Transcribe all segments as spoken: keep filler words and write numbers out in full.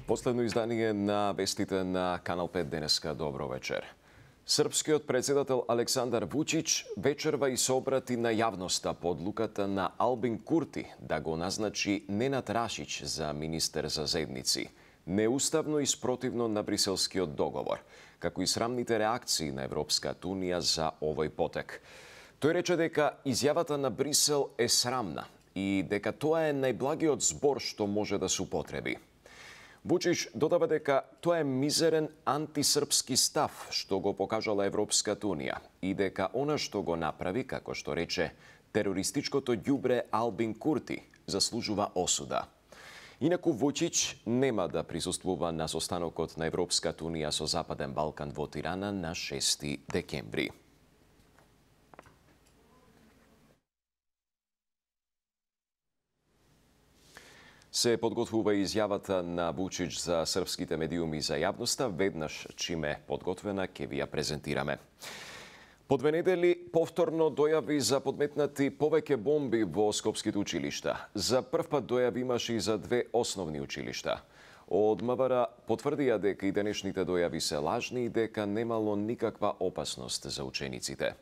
Последно издание на вестите на Канал пет денеска. Добро вечер. Српскиот председател Александар Вучич вечерва и се обрати на јавноста по одлуката на Албин Курти да го назначи Ненад Рашич за министер за заедници. Неуставно и спротивно на бриселскиот договор, како и срамните реакции на Европската унија за овој потек. Тој рече дека изјавата на Брисел е срамна и дека тоа е најблагиот збор што може да се употреби. Вучич додава дека тоа е мизерен антисрпски став што го покажала Европската унија и дека она што го направи, како што рече, терористичкото ѓубре Албин Курти заслужува осуда. Инаку Вучич нема да присуствува на состанокот на Европската унија со Западен Балкан во Тирана на шести декември. Се подготвува изјавата на Вучич за српските медиуми за јавноста, веднаш чиме подготвена ќе ви ја презентираме. По две недели повторно дојави за подметнати повеќе бомби во скопските училишта. За прв пат дојави имаше и за две основни училишта. Од МВР потврдија дека и денешните дојави се лажни и дека немало никаква опасност за учениците.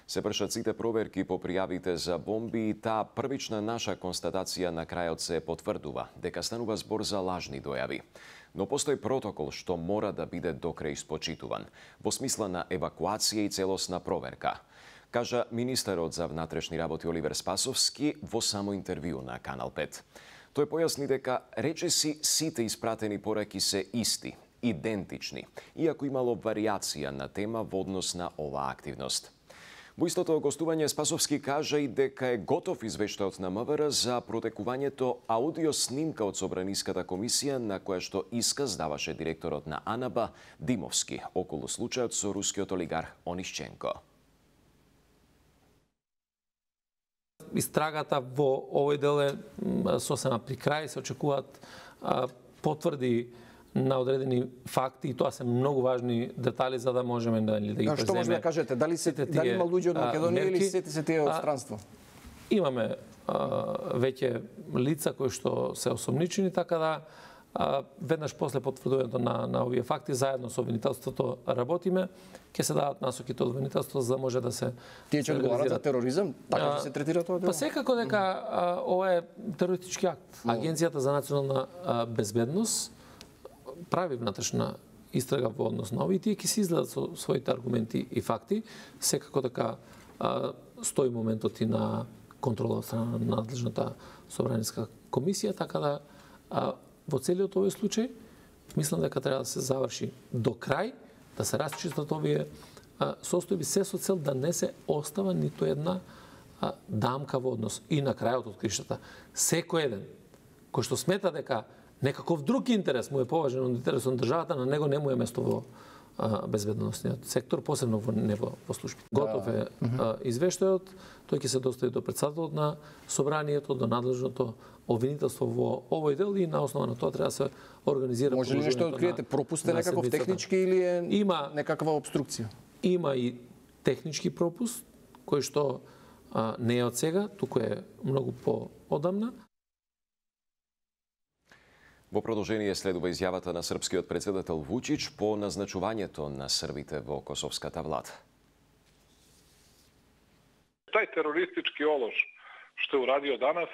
Се вршат сите проверки по пријавите за бомби и таа првична наша констатација на крајот се потврдува дека станува збор за лажни дојави. Но постои протокол што мора да биде докрај испочитуван, во смисла на евакуација и целосна проверка, кажа министерот за внатрешни работи Оливер Спасовски во само интервју на Канал пет. Тој појасни дека речиси сите испратени пораки се исти, идентични, иако имало варијација на тема во однос на оваа активност. Во истото гостување Спасовски кажа и дека е готов извештајот на МВР за протекувањето аудио снимка од Собраниската комисија на која што исказ даваше директорот на АНБ Димовски околу случајот со рускиот олигарх Онишченко. Истрагата во овој дел е сосема при крај, се очекуваат потврди на одредени факти и тоа се многу важни детали за да можеме да, да ги преземе. Што може да кажете? Дали се дали има луѓе од Македонија или сите се тие од странство? Имаме а, веќе лица кои што се осомничени, така да а, веднаш после потврдувањето на на овие факти заедно со обвинителството работиме, ќе се дадат насоките од обвинителството за да може да се тие ќе одговарат за тероризам, така ќе се третира тоа дело. Па секако дека а, ова е терористички акт. Агенцијата за национална а, безбедност прави внатрешна истрага во однос на овие, тие ќе се изгледат со своите аргументи и факти. Секако така а, стои моментот и на контрола од страна на надлежната собраниска комисија, така да а, во целиот овој случај мислам дека треба да се заврши до крај, да се расчистат овие а, состојби, се со цел да не се остава ниту една а, дамка во однос. И на крајот од криштата, секој еден кој што смета дека некаков друг интерес му е поважен од интересот на државата, на него не му е место во а, безбедносниот сектор, посебно во нево во служби. Готов е а, извештајот, тој ќе се достави до претседателот на собранието, до надлежното обвинителство во овој дел и на основа на тоа треба да се организира. Може ли нешто да откриете? Пропуст е некаков технички или е има, некаква обструкција? Има и технички пропуст, кој што а, не е од сега, туку е многу поодамна. Во продолжение следува изјавата на српскиот председател Вучич по назначувањето на србите во косовската влада. Тај терористички олош што е урадио данас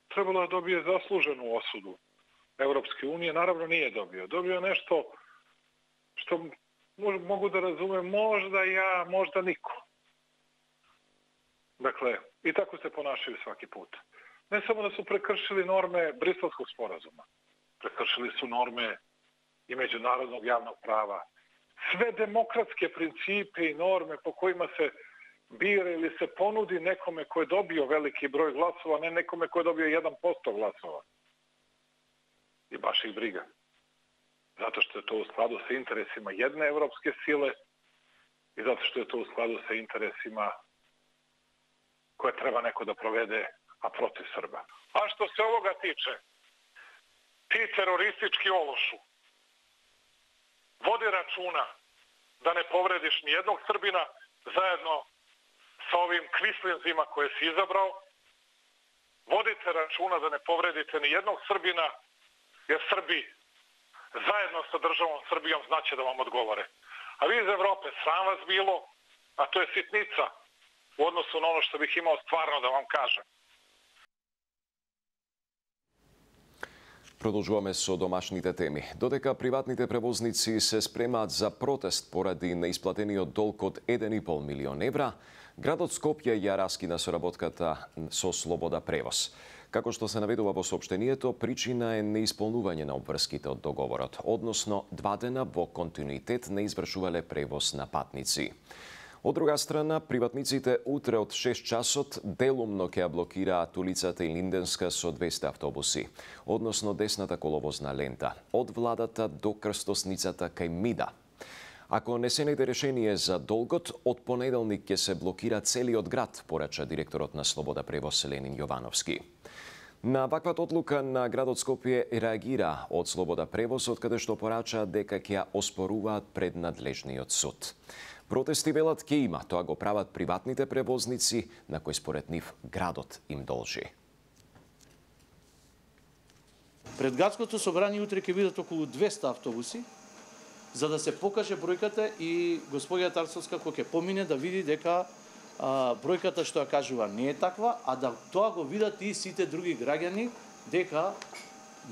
требало да добие заслужену осуду Европске унije, наравно nije dobio. Dobio nešto što mogu da razumem možda ja, možda niko. Dakle, i tako se ponašaju svaki put. Ne samo da su prekršili norme Briselskog sporazuma, prekršili su norme i međunarodnog javnog prava. Sve demokratske principe i norme po kojima se bira ili se ponudi nekome ko je dobio veliki broj glasova, ne nekome ko je dobio jedan posto glasova. I baš ih briga. Zato što je to u skladu sa interesima jedne evropske sile i zato što je to u skladu sa interesima koje treba neko da provede, a protiv Srba. A što se ovoga tiče, ti teroristički ološu vodi računa da ne povrediš ni jednog Srbina zajedno sa ovim kvislinzima koje si izabrao. Vodite računa da ne povredite ni jednog Srbina, jer Srbi zajedno sa državom Srbijom znaće da vam odgovore. A vi iz Evrope, sram vas bilo, a to je sitnica u odnosu na ono što bih imao stvarno da vam kažem. Продолжуваме со домашните теми. Додека приватните превозници се спремаат за протест поради неисплатениот долг од еден и пол милион евра, градот Скопје ја раскина соработката со Слобода превоз. Како што се наведува во соопштението, причина е неисполнување на обврските од договорот, односно два дена во континуитет не извршувале превоз на патници. Од друга страна, приватниците утре од шест часот делумно ќе ја блокираат улицата Илинденска со двесте автобуси, односно десната коловозна лента, од владата до крстосницата кај Мида. Ако не се најде решение за долгот, од понеделник ќе се блокира целиот град, порача директорот на Слобода превоз Ленин Јовановски. На ваквата одлука на градот Скопје реагира од Слобода превоз, од каде што порача дека ќе ја оспоруваат пред надлежниот суд. Протести велат ке има, тоа го прават приватните превозници, на кои според нив градот им должи. Пред градското собрание утре ќе бидат околу двесте автобуси, за да се покаже бројката и господја Тарцовска кој ќе помине да види дека а, бројката што ја кажува не е таква, а да тоа го видат и сите други граѓани дека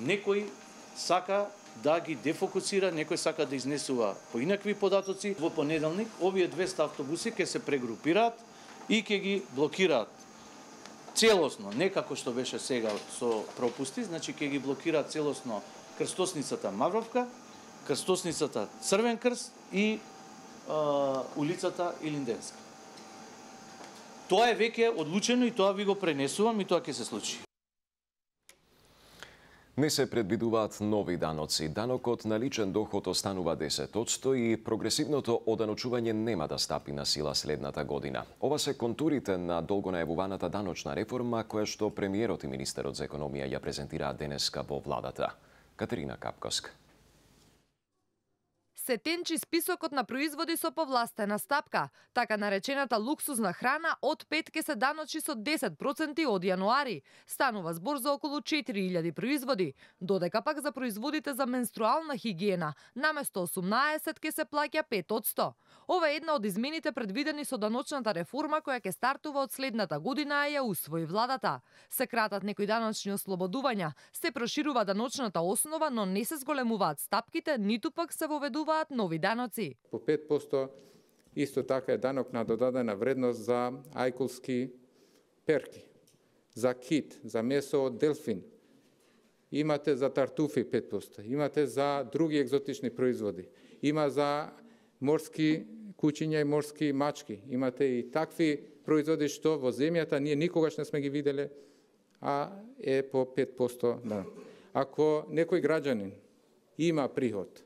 некој сака да ги дефокусира, некој сака да изнесува поинакви податоци. Во понеделник овие двесте автобуси ќе се прегрупираат и ќе ги блокираат целосно, не како што беше сега со пропусти, значи ќе ги блокираат целосно крстосницата Мавровка, крстосницата Црвен крст и а, улицата Илинденска. Тоа е веќе одлучено и тоа ви го пренесувам и тоа ќе се случи. Не се предвидуваат нови даноци. Данокот на личен доход останува десет одсто и прогресивното оданочување нема да стапи на сила следната година. Ова се контурите на долго најавуваната даночна реформа, која што премиерот и министерот за економија ја презентираа денеска во владата. Катерина Капковска. Се тенчи списокот на производи со повластена стапка. Така наречената луксузна храна од пет ке се даночи со десет проценти од јануари. Станува збор за околу четири илјади производи, додека пак за производите за менструална хигиена наместо осумнаесет ке се плаќа пет одсто. Ова е една од измените предвидени со даночната реформа која ќе стартува од следната година, а ја усвои владата. Се кратат некои даночни ослободувања, се проширува даночната основа, но не се зголемуваат стапките, ниту пак се воведува нови даноци. По пет одсто исто така е данок на додадена вредност за ајкулски перки, за кит, за месо од делфин. Имате за тартуфи пет одсто, имате за други екзотични производи. Има за морски кучиња и морски мачки. Имате и такви производи што во земјата ние никогаш не сме ги виделе, а е по пет одсто данок. Ако некој граѓанин има приход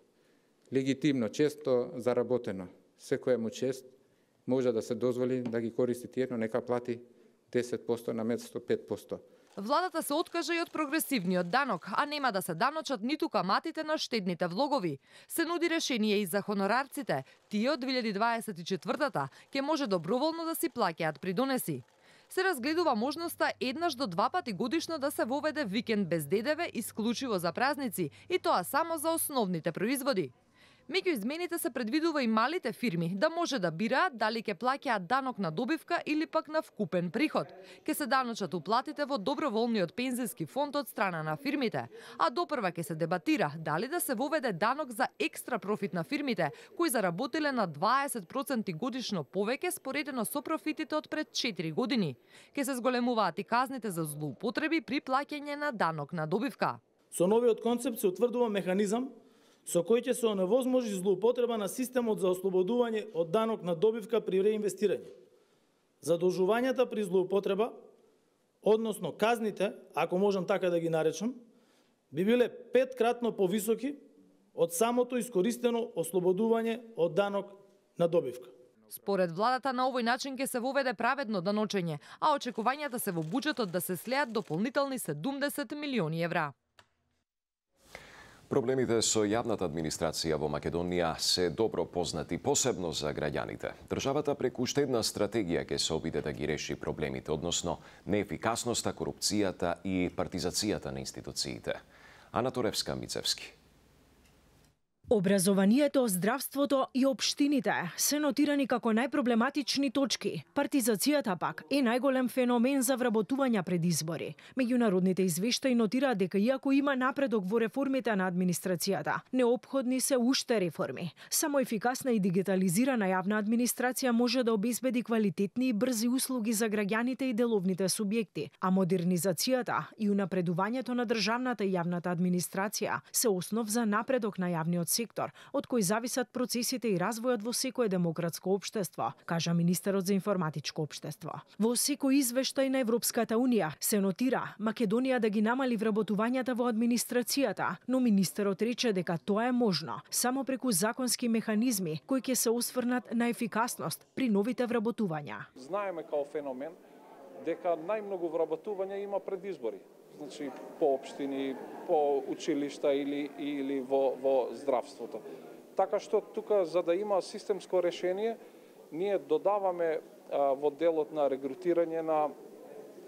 легитимно, често заработено, секоја му чест може да се дозволи да ги користи тие, но нека плати десет одсто наместо пет одсто. Владата се откажа и од прогресивниот данок, а нема да се даночат ниту каматите на штедните влогови. Се нуди решение и за хонорарците. Тие од две илјади дваесет и четвртата ќе може доброволно да си плаќаат придонеси. Се разгледува можноста еднаш до два пати годишно да се воведе викенд без ДДВ исклучиво за празници, и тоа само за основните производи. Меѓу измените се предвидува и малите фирми да може да бираат дали ќе плаќаат данок на добивка или пак на вкупен приход. Ке се даночат уплатите во доброволниот пензиски фонд од страна на фирмите, а допрва ќе се дебатира дали да се воведе данок за екстра профит на фирмите кои заработиле на дваесет проценти годишно повеќе споредено со профитите од пред четири години. Ке се зголемуваат и казните за злоупотреби при плаќање на данок на добивка. Со новиот концепт се утврдува механизам со кој ќе се оневозможи злоупотреба на системот за ослободување од данок на добивка при реинвестирање. Задолжувањата при злоупотреба, односно казните, ако можам така да ги наречам, би биле петкратно повисоки од самото искористено ослободување од данок на добивка. Според владата на овој начин ќе се воведе праведно даночење, а очекувањата се во буџетот да се слеат дополнителни седумдесет милиони евра. Проблемите со јавната администрација во Македонија се добро познати, посебно за граѓаните. Државата преку штедна стратегија ќе се обиде да ги реши проблемите, односно неефикасноста, корупцијата и партизацијата на институциите. Ана Торевска, Мицевски. Образованието, здравството и општините се нотирани како најпроблематични точки. Партизацијата пак е најголем феномен за вработување пред избори. Меѓународните извештаи нотираат дека иако има напредок во реформите на администрацијата, неопходни се уште реформи. Само ефикасна и дигитализирана јавна администрација може да обезбеди квалитетни и брзи услуги за граѓаните и деловните субјекти, а модернизацијата и унапредувањето на државната и јавната администрација се основ за напредок на јавниот сектор, од кој зависат процесите и развојот во секое демократско општество, кажа министерот за информатичко општество. Во секој извештај на Европската унија се нотира Македонија да ги намали вработувањата во администрацијата, но министерот рече дека тоа е можно само преку законски механизми кои ќе се осврнат на ефикасност при новите вработувања. Знаеме као феномен дека најмногу вработување има пред избори. Значи по општини, по училишта или или во во здравството. Така што тука за да има системско решение, ние додаваме а, во делот на регрутирање на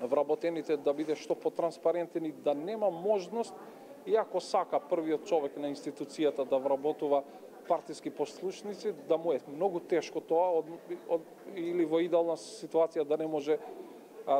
вработените да биде што потранспарентен и да нема можност, иако сака првиот човек на институцијата да вработува партиски послушници, да му е многу тешко тоа од, од, или во идеална ситуација да не може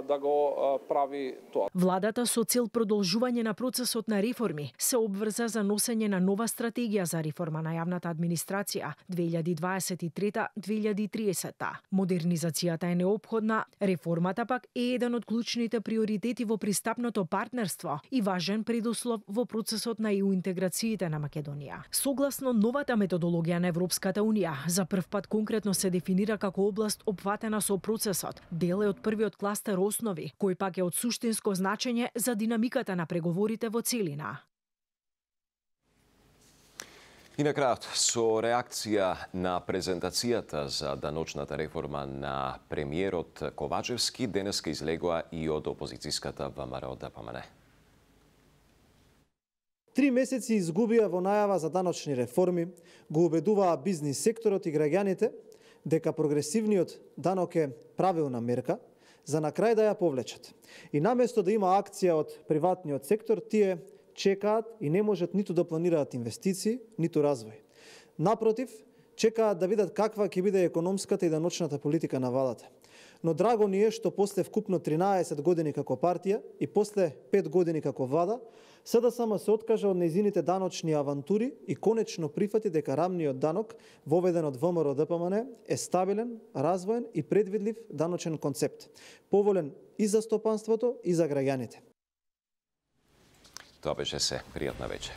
да го прави тоа. Владата со цел продолжување на процесот на реформи се обврза за носење на нова стратегија за реформа на јавната администрација две илјади дваесет и трета до две илјади и тридесета. Модернизацијата е неопходна, реформата пак е еден од клучните приоритети во пристапното партнерство и важен предуслов во процесот на и ю интеграциите на Македонија. Согласно новата методологија на Европската унија, за прв пат конкретно се дефинира како област опфатена со процесот. Дел е од првиот кластер основи, кој пак е од суштинско значење за динамиката на преговорите во целина. И на крајот, со реакција на презентацијата за даночната реформа на премиерот Ковачевски, денеска излегоа и од опозицијската ВМРО-ДПМН. Три месеци изгубија во најава за даночни реформи, го убедуваа бизнис секторот и граѓаните дека прогресивниот данок е правилна мерка, за на крај да ја повлечат. И наместо да има акција од приватниот сектор, тие чекаат и не можат ниту да планираат инвестиции, ниту развој. Напротив, чекаат да видат каква ќе биде економската и даночната политика на владата. Но драго ни е што после вкупно тринаесет години како партија и после пет години како влада, СДСМ се откажа од нејзините даночни авантури и конечно прифати дека рамниот данок, воведен од ВМРО-ДПМН, е стабилен, развоен и предвидлив даночен концепт, поволен и за стопанството и за граѓаните. Тоа беше се. Пријатна вечер.